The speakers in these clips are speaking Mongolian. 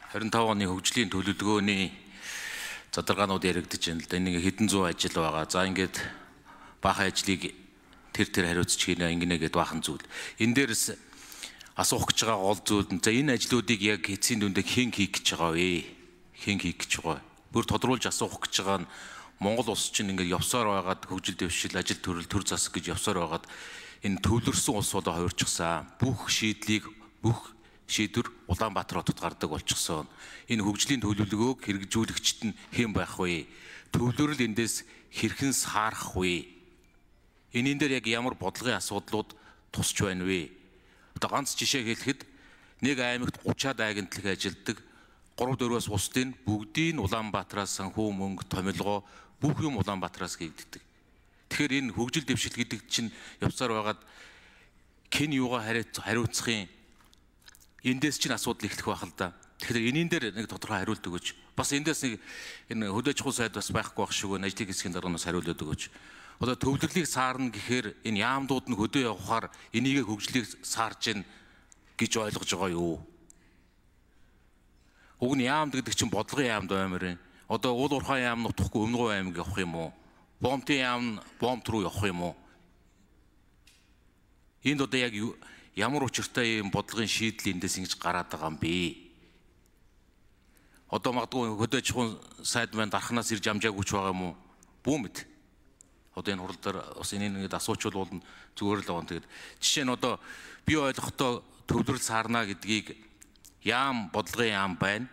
25 оны хөгжлийн төлөвлөгөөний задрагаанууд яригдж байна л да. Энийг хэдэн зуун ажил байгаа. За ингээд баахан ажлыг тэр хариуцж хийнэ ингэнэ гэдээ баахан зүйл. Энэ дээрс асуух гэж байгаа гол зүйл нь за энэ ажлуудыг яг эцсийн дүндээ хэн хийх гэж байгаа вэ? Хэн хийх гэж байгаа? Бүр тодруулж асуух гэж байгаа нь Монгол улс чинь ингээд явсаар байгаад хөгжил дэвшил, ажил төрөл, төр засаг гэж явсаар байгаад энэ төвлөрсөн улс болоо хувирчихсан. Бүх шийдвэр Улаанбаатар хотод гардаг болчихсон. Энэ хөгжлийн төлөвлөгөөг хэрэгжүүлэгчд нь хэн байх вэ? Төвлөрөл эндээс хэрхэн саарах вэ? Энийн дээр яг ямар бодлогын асуудлууд тусч байна вэ? Одоо ганц жишээ хэлэхэд нэг аймагт 30-аад агентлаг ажилддаг 3-4-өөс бусдын бүгдийн Улаанбаатараас санхүү мөнгө, томилгоо бүх юм Улаанбаатараас хийгддэг. Тэгэхээр энэ хөгжил дэвшил гэдэг чинь явсаар байгаад хэн юугаа хариуцахын эндээс чинь асуудал эхлэх байх л да. Тэгэхээр энийн дээр нэг тодорхой хариулт өгөөч. Бас эндээс нэг энэ хөдөөж ахуй сайд бас байхгүй байх шүү. Ажлын хэсгийн дарганаас хариулт өгөөч. Одоо төвлөрлийг саарна гэхээр энэ яамдууд нь хөдөө явахаар энийг хөгжлийг саарж гин гэж ойлгож байгаа юу? Уг нь яамд гэдэг чинь бодлогын яамд баймаар байна. Одоо уул уурхай яам нутахгүй Өмнөгов аймаг явах юм уу? Бомтын яам бомт руу явах юм уу? Энд одоо яг ямар учиртай юм бодлогын шийдэл эндээс ингэж гараад байгаа юм бэ? Одоо магадгүй хөдөөж ахуйн сайд маань дархнаас ирж амжаагүй ч байгаа юм уу? Бүү мэд. Одоо энэ хурал дээр бас энийг нэг асуучвал зүгээр л байгаа. Тэгээд жишээ нь одоо би ойлгохдоо төвлөрөл саарна гэдгийг яам бодлогын яам байна.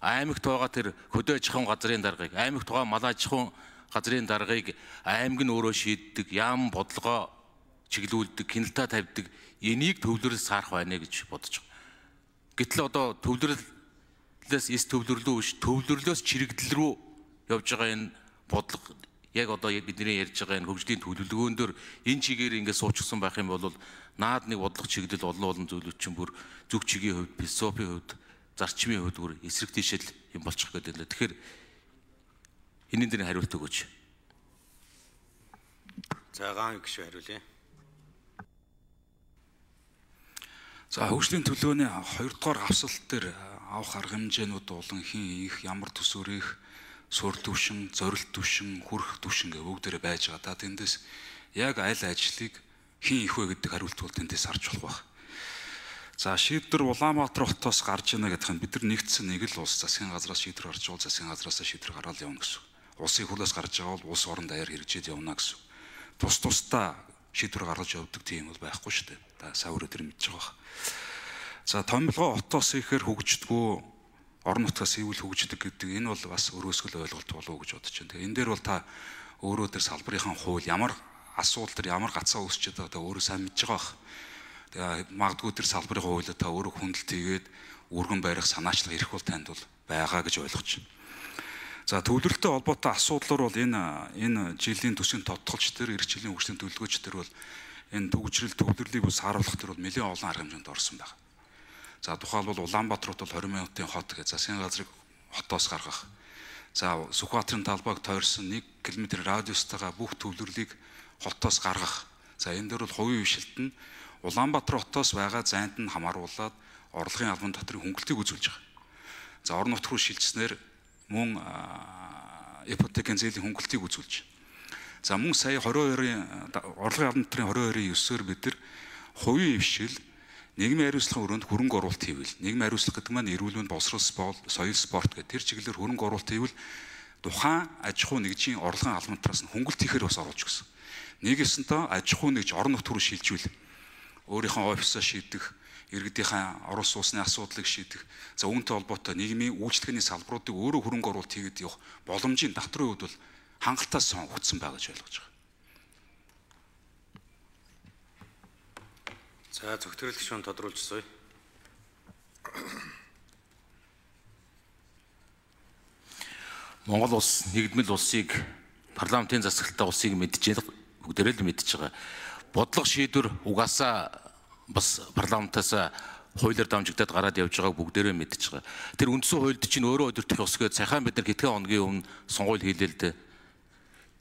Аймагт байгаа тэр хөдөөж ахуйн газрын даргыг, аймагт байгаа малаж ахуйн газрын даргыг аймаг нь өөрөө шийддэг, яам бодлогоо чиглүүлдэг, хяналтаа тавьдаг. Энийг төвлөрөл саарах байна гэж бодож байгаа. Гэтэл одоо төвлөрлөөс эс төвлөрлөө биш, төвлөрлөөс чирэгдэл рүү явж байгаа энэ бодлого яг одоо бидний ярьж байгаа энэ хөгжлийн төлөвлөгөөн дөр энэ чигээр ингээд суучихсан байх юм бол наад нэг бодлого чиглэл олон зүйлүүд чинь бүр зүг чигийн хувьд, философийн хувьд, зарчмын хувьд бүр эсрэг тийшэл юм болчих гээд байна. Тэгэхээр энийн дээр хариулт өгөөч. За гаан гişүү хариулъя. За хөгжлийн төлөвлөгөөний 2 дугаар хавсалт дээр авах арга хэмжээнүүд болон хин их ямар төсөөрөх суурь түвшин, зорилт түвшин, хүрэх түвшин гэх бүгдээрээ байж байгаа. Та тэндээс яг аль ажлыг хин их вэ гэдэг хариулт бол тэндээс харж болох байх. За шийдвэр Улаанбаатар хотоос гарч ийнэ гэдэг нь бид нар нэгдсэн нэг л улс засгийн газраас шийдвэр гарч байгаа, засгийн газраас шийдвэр гаргаад явна гэсэн. Улсын хөлөөс гарч байгаа бол улс орон даяар хэрэгжээд явна гэсэн. Тусдаа шийдвэр гаргаж явдаг тийм бол байхгүй шүү дээ. Та савар өдөр мэдж байгаа. За томилгоо хотоос ихээр хөгждгөө орон нутгаас ивэл хөгждөг гэдэг энэ бол бас өрөөсгөл ойлголт болов уу гэж бодож байна. Тэгээ энэ дээр бол та өөрөө тэр салбарынхаа хууль ямар асуудал төр ямар гацаа үүсчихэд байгаа та өөрөө сайн мэдж байгаа бах. Тэгээ магадгүй тэр салбарын хуулиуд та өөрөө хүндэлт хийгээд өргөн барих санаачлал ирэх бол танд бол байгаа гэж ойлгож байна. За төвлөрөлтөй холбоотой асуудлаар бол энэ жилийн төсвийн тодтолч төр эх жилийн хөгжлийн төлөвлөгөөч төр бол энэ төвчрэл төвлөрлийг бас харуулах төр бол нэлээд олон арга хэмжээнд орсон байна. За тухайлбал Улаанбаатар хот бол 20 минутын хот гэж засгийн газрыг хотоос гаргах. За Сүхбаатарын талбайг тойрсон 1 км радиустайгаа бүх төвлөрлийг хотоос гаргах. За энэ дээр бол хувийн хвшилт нь Улаанбаатар хотоос байгаа зайд нь хамааруулаад орлогын албан дотрын хөнгөлтийг үзүүлж байгаа. За орон нутг руу шилжснээр мөн ипотекийн зээлийн хөнгөлтийг үзүүлж. За мөн сая 22-ын орлогын албан дотрын 22-ын 9-оор бид нар хувийн хвшил нийгмийн хариуцлагын өрөөнд хөрөнгө оруулалт хийвэл нийгмийн хариуцлага гэдэг маань эрүүл мэнд, боловсрол, соёл, спорт гэх тэр чиглэлээр хөрөнгө оруулалт хийвэл тухайн аж ахуй нэгжийн орлогын албан дотроос нь хөнгөлт хийхээр бас оруулж гисэн. Нэгэсэнтэй аж ахуй нэгж орон нутг руу шилжүүл өөрийнхөө офисоо шийдэх, иргэдийнхээ орон сууцны асуудлыг шийдэх, за үүнтэй холбоотой нийгмийн үйлчлэгээний салбаруудыг өөрөө хөрөнгө оруулалт хийгээд явах боломжийн давтрын хувьд бол хангалттай сонгогдсон байгаа гэж ойлгож байгаа. За зөвхөн гишүүн тодруулжсоё. Монгол улс нэгдмэл улсыг парламентын засаглалтаа улсыг мэдж бүгдээрээ л мэдж байгаа. Бодлого шийдвэр угаасаа бас парламентаас хуулиар дамжигдаад гараад явж байгааг бүгдээрээ мэдж байгаа. Тэр үндсэн хуульд чинь өөрөө өдөртөх ёсгүй цахаан бид нар хэдхэн хоногийн өмнө сонгуул хийлээ л дээ.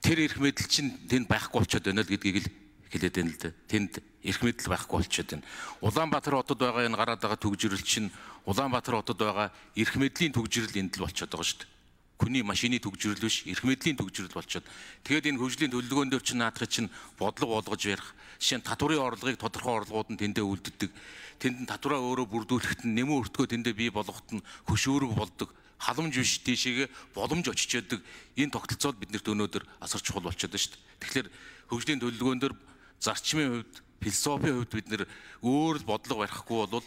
Тэр эрх мэдэл чинь тэнд байхгүй болчиход байна л гэдгийг л хэлээд байна л дээ. Тэнд эрх мэдэл байхгүй болчиход байна. Улаанбаатар хотод байгаа энэ гараад байгаа төгжрөл чинь Улаанбаатар хотод байгаа эрх мэдлийн төгжрөл энд л болчиход байгаа шүү дээ. Хүний машины төгжрөл биш, эрх мэдлийн төгжрөл болчиход. Тэгээд энэ хөгжлийн төлөвлөгөөн дээр чинь наадах чинь бодлого болгож ярих. Жишээ нь татварын орлогыг тодорхой орлогууд нь тэндээ үлддэг. Тэнд нь татвараа өөрөө бүрдүүлэхэд нь нэмэн өртгөө тэндээ бий болгоход нь хөшөөрөг болдог. Халамж биш тийшээгээ боломж очиж яадаг. Энэ тогтолцоод биднэрт өнөөдөр асар чухал болчиход байна шүү дээ. Тэгэхээр хөгжлийн төлөвлөгөөн дээр зарчмын хувьд, философийн хувьд бид нэр өөр бодлого барихгүй бол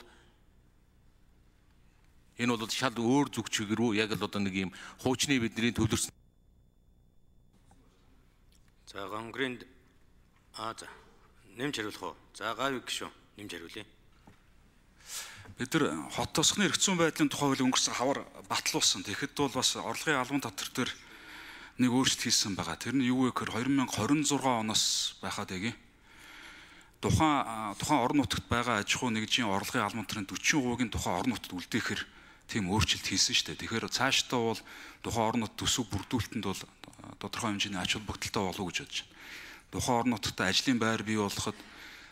энэ бол шал өөр зүг чиг рүү яг л одоо нэг юм хуучны бидний төлөрсөн. За Гонгрийн за нэмж хариулах уу? За Гавь гişүн нэмж хариулъя. Бид нар хот тосгоны эрх зүйн байдлын тухай хууль өнгөрсөн хавар батлуулсан. Тэгэхэд бол бас орлогын албан татвар дээр нэг өөрчлөлт хийсэн байгаа. Тэр нь юу вэ гэхээр 2026 оноос байхад яг тухайн орон нутагт байгаа аж ахуй нэгжийн орлогын албан татварын 40%-ийн тухайн орон нутагт үлдээхэр тийм өөрчлөлт хийсэн шүү дээ. Тэгэхээр цаашдаа бол тухайн орон нутгийн төсөв бүрдүүлэлтэнд бол тодорхой хэмжээний ач холбогдолтой болов гэж бодож байна. Тухайн орон нутагт ажлын байр бий болоход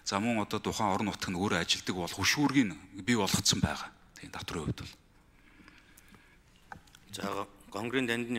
за мөн одоо тухайн орон нутаг нь өөрөө ажилдаг болох хөшүүргийг бий болгоцсон байгаа. Тийм татварын хувьд бол. За Гонгрийн данд